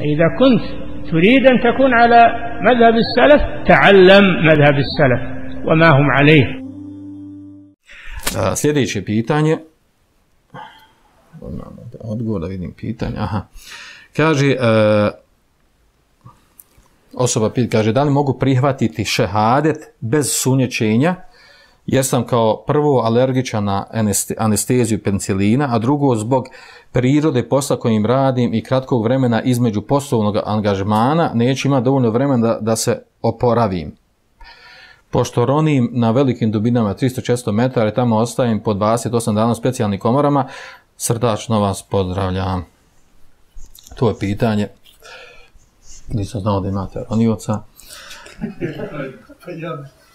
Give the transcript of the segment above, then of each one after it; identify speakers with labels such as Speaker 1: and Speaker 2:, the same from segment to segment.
Speaker 1: إذا كنت تريد أن تكون على مذهب السلف تعلم مذهب السلف وما هم عليه.
Speaker 2: Sljedeće pitanje, odgovor da vidim pitanje, kaže, osoba kaže, da li mogu prihvatiti šehadet bez sunjećenja, jer sam kao prvo alergičan na anesteziju penicilina, a drugo zbog prirode posla kojim radim i kratkog vremena između poslovnog angažmana neću imati dovoljno vremena da se oporavim. Pošto ronim na velikim dubinama 300-400 metara i tamo ostajem po 28 dana u specijalnim komorama, srdačno vas pozdravljam. To je pitanje. Nisam znao da imate ronioca.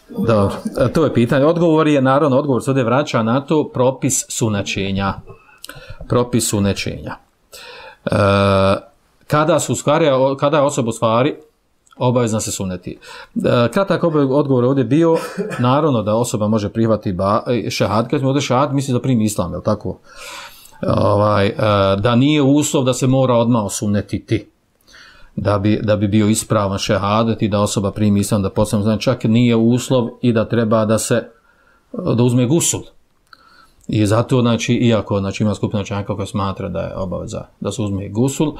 Speaker 2: Dobro, to je pitanje. Odgovor je, naravno, odgovor se ovdje vraća na to propis sunećenja. Propis sunećenja. Kada je osoba u stvari obavezna se suneti. Kratak odgovor ovdje bio, naravno da osoba može prihvatiti šehad, kad smo ovdje šehad, misli da primi islam, je li tako? Da nije uslov da se mora odmah osunetiti. Da bi bio ispravan šehadet i da osoba primi islam, da postane, znači čak nije uslov i da treba da uzme gusul. I zato, znači, iako ima skupina učenjaka koja smatra da je obaveza da se uzme gusul,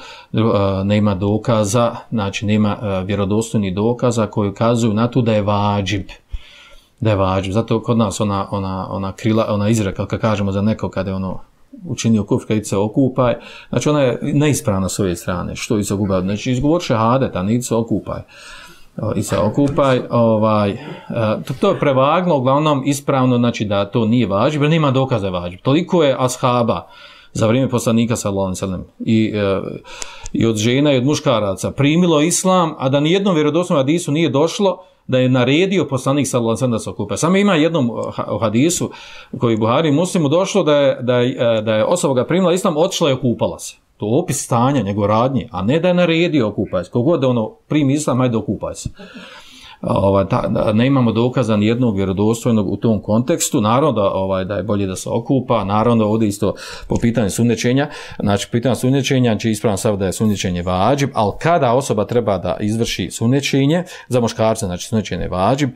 Speaker 2: nema dokaza, znači nema vjerodostojnih dokaza koji ukazuju na to da je vađib. Da je vađib. Zato kod nas ona izreka, kad kažemo za neko kada je učinio kufr, kad se okupaj, znači ona je neispravna s ove strane. Što se okupaj? Znači izgovor šehadet, a ne se okupaj. I se okupaj, to je prevagno, uglavnom ispravno, znači da to nije vađib, jer nema dokaza vađib. Toliko je ashaba za vrijeme poslanika sallallahu alejhi ve sellem i od žena i od muškaraca primilo islam, a da nijednom vjerodostojnom hadisu nije došlo da je naredio poslanik sallallahu alejhi ve sellem da se okupa. Samo ima jednom hadisu koji Buhari i Muslimu došlo da je osoba ga primila islam, otišla i okupala se. To je opis stanja, njegov radnje, a ne da je naredio okupaj se. Kogod da primi islam, ajde okupaj se. Ne imamo dokaza nijednog vjerodostojnog u tom kontekstu. Naravno da je bolje da se okupa, naravno ovdje isto po pitanju sunnećenja, znači pitanje sunnećenja će ispravno stav da je sunnećenje vađib, ali kada osoba treba da izvrši sunnećenje, za muškarce znači sunnećenje vađib,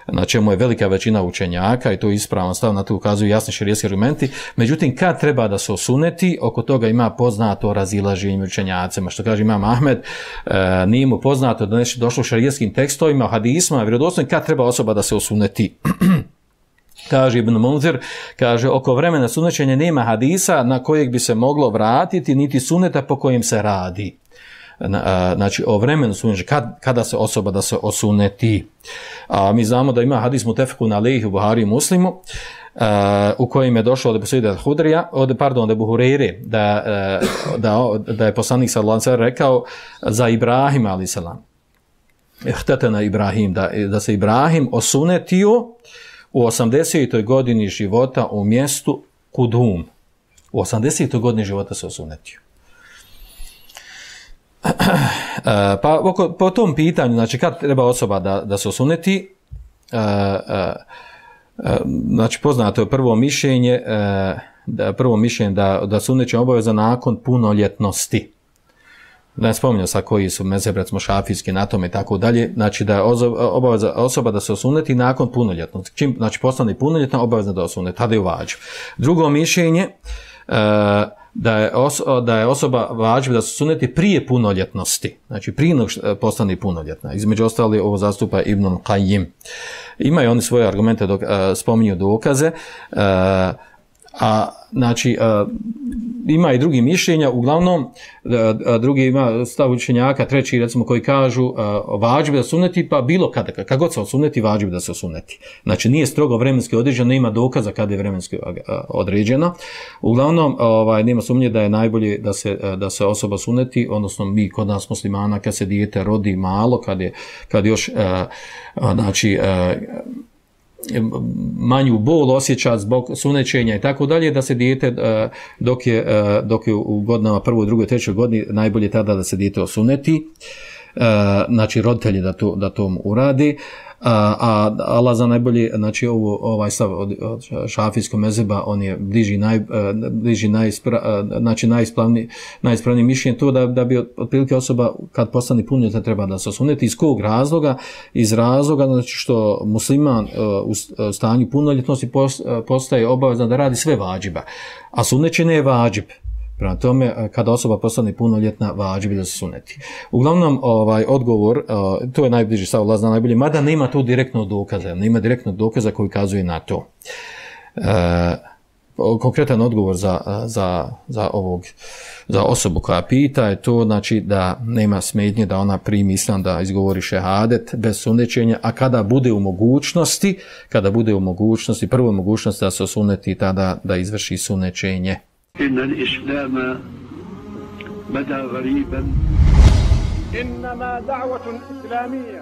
Speaker 2: na čemu je velika većina učenjaka i to je ispravno stav, na to ukazuju jasni šerijski argumenti. Međutim, kad treba da se osuneti, oko toga ima poznato razilaženje učenjacima, što kaže Imam Ahmed, nije mu poznato da nešto došlo u šerijskim tekstovima, hadisma, vjerodostojno, kad treba osoba da se osuneti. Kaže Ibn Munzir, kaže, oko vremena sunnećenja nema hadisa na kojeg bi se moglo vratiti, niti sunneta po kojem se radi. Znači, o vremenu sunnećenja, kada se osoba da se osuneti. Mi znamo da ima hadis mutefekun alejhi u Buhari i Muslimu, u kojem je došlo od Ebu Sa'ida od Ebu Hureyre, da je poslanik sallallahu alejhi ve sellem rekao za Ibrahima alejhi selam, Htetena Ibrahim, da se Ibrahim osunetio u 80. godini života u mjestu Kudum. U 80. godini života se osunetio. Po tom pitanju, znači kad treba osoba da se osuneti, znači poznato je prvo mišljenje da sunećenje obaveza nakon punoljetnosti. Da ne spominjam sad koji su mezheb, recimo šafijski, na tome i tako dalje, znači da je obaveza osoba da se osuneti nakon punoljetnosti. Čim znači postane punoljetna, obavezna da osuneti, tada je vađib. Drugo mišljenje, da je osoba vađib da se osuneti prije punoljetnosti, znači prije nego postane punoljetna. Između ostali ovo zastupa Ibn Qayyim. Imaju oni svoje argumente, spominju dokaze, znači, ima i drugi mišljenja, uglavnom, drugi ima stav učenjaka, treći, recimo, koji kažu vađib da se osuneti, pa bilo kada, kad god se osuneti, vađib da se osuneti. Znači, nije strogo vremenski određeno, nema dokaza kada je vremenski određeno. Uglavnom, nema sumnje da je najbolje da se osoba suneti, odnosno mi kod nas muslimana, kad se dijete rodi malo, kad još, znači, manju bol osjeća zbog sunećenja i tako dalje, da se dijete dok je u godinama prvoj, drugoj, trećoj godini, najbolje tada da se dijete osuneti, znači roditelji da to uradi. a Allah za najbolje, znači ovaj stav od šafijskog mezheba, on je bliži najispravniji mišljenje, to da bi otprilike osoba kad postane punoljetna treba da se osuneti. Iz kog razloga? Iz razloga znači što musliman u stanju punoljetnosti postaje obavezan da radi sve vadžiba, a sunnećenje je vadžib. Prema tome, kada osoba postane punoljetna, vadžib da se suneti. Uglavnom, odgovor, to je najbliži stav Allah zna najbolje, mada nema tu direktnog dokaza koji kazuje na to. Konkretan odgovor za osobu koja pita je to, znači da nema smetnje da ona primi islam, da izgovori šehadet bez sunećenja, a kada bude u mogućnosti, prvo mogućnost da se osuneti, tada da izvrši sunećenje.
Speaker 3: إن الإسلام بدا غريبا
Speaker 1: إنما دعوة إسلامية